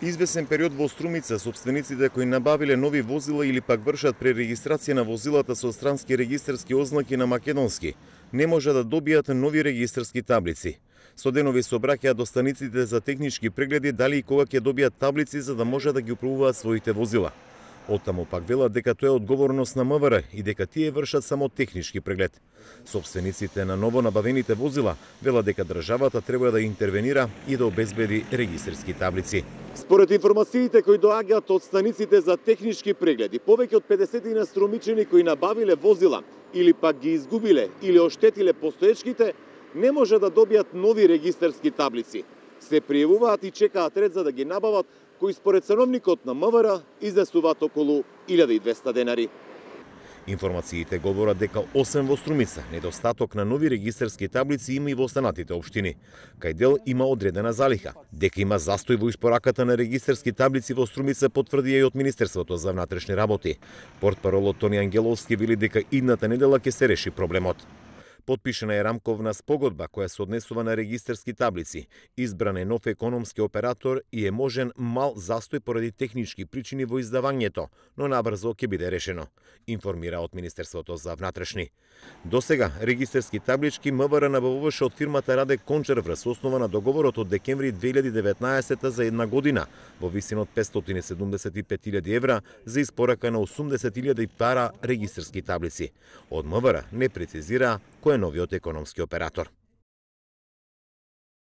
Извесен период во Струмица, сопствениците кои набавиле нови возила или пак вршат пререгистрација на возилата со странски регистарски ознаки на македонски, не може да добијат нови регистарски таблици. Со денови се обраќаат до станиците за технички прегледи дали и кога ќе добијат таблици за да може да ги управуваат своите возила. Оттаму пак велат дека тоа е одговорност на МВР и дека тие вршат само технички преглед. Сопствениците на ново набавените возила велат дека државата треба да интервенира и да обезбеди регистарски таблици. Според информациите кои доаѓаат од станиците за технички прегледи, повеќе од 50 струмичани кои набавиле возила или пак ги изгубиле или оштетиле постоечките, не може да добијат нови регистарски таблици. Се пријавуваат и чекаат ред за да ги набават, кои според ценовникот на МВР изнесуваат околу 1200 денари. Информациите говорат дека освен во Струмица, недостаток на нови регистарски таблици има и во останатите општини. Кај дел има одредена залиха. Дека има застој во испораката на регистарски таблици во Струмица потврди и од Министерството за внатрешни работи. Портпаролот Тони Ангеловски вели дека идната недела ќе се реши проблемот. Потпишана е рамковна спогодба која се однесува на регистарски таблици. Избран е нов економски оператор и е можен мал застој поради технички причини во издавањето, но набрзо ќе биде решено, информира од Министерството за внатрешни. Досега регистарски таблички МВР набавуваше од фирмата Раде Кончар врз основа на договорот од декември 2019 за една година во висина од 575.000 евра за испорака на 80.000 пара регистарски таблици. Од МВР не прецизира кој е новиот економски оператор.